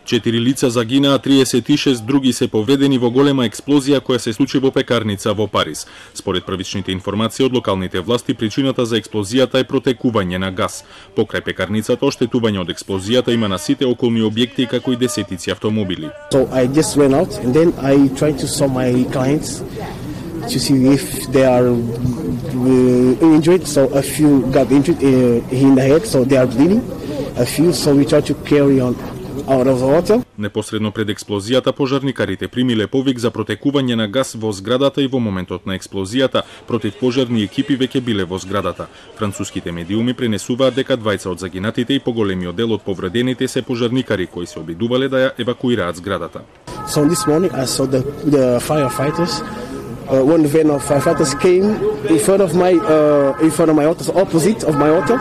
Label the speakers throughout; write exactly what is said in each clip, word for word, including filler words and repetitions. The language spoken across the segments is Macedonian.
Speaker 1: Четири лица загинаа, триесет и шест други се повредени во голема експлозија која се случи во пекарница во Париз. Според првичните информации од локалните власти, причината за експлозијата е протекување на газ. Покрај пекарницата, оштетување од експлозијата има на сите околни објекти како и десетици автомобили.
Speaker 2: So I just went out and then I tried to saw my clients to see if they are uh, injured. So a few got injured uh, in the head, so they are bleeding. A few, so we tried to carry on out of the water.
Speaker 1: Непосредно пред експлозијата, пожарникарите примиле повик за протекување на газ во зградата и во моментот на експлозијата противпожарни екипи веќе биле во зградата. Француските медиуми пренесуваат дека двајца од загинатите и поголемиот дел од повредените се пожарникари кои се обидувале да ја евакуираат зградата.
Speaker 2: So this morning I saw the, the firefighters. Uh, one van of firefighters came in front of my uh, in front of my auto, opposite of my auto,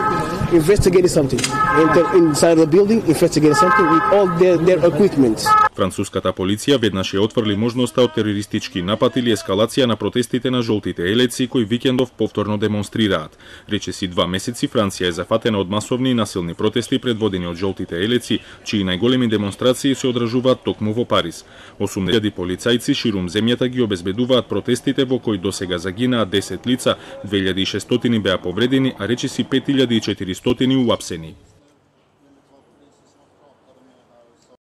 Speaker 2: investigating something. Enter inside the building, investigating something with all their, their equipment.
Speaker 1: Француската полиција веднаш ја отфрли можноста од терористички напад или ескалација на протестите на жолтите елеци кои викендов повторно демонстрираат. Речиси два месеци Франција е зафатена од масовни и насилни протести предводени од жолтите елеци, чии најголеми демонстрации се одржуваат токму во Париз. осумдесет илјади полицајци ширум земјата ги обезбедуваат протестите во кои досега загинаа десет лица, две илјади и шестстотини беа повредени, а речиси пет илјади и четиристотини уапсени.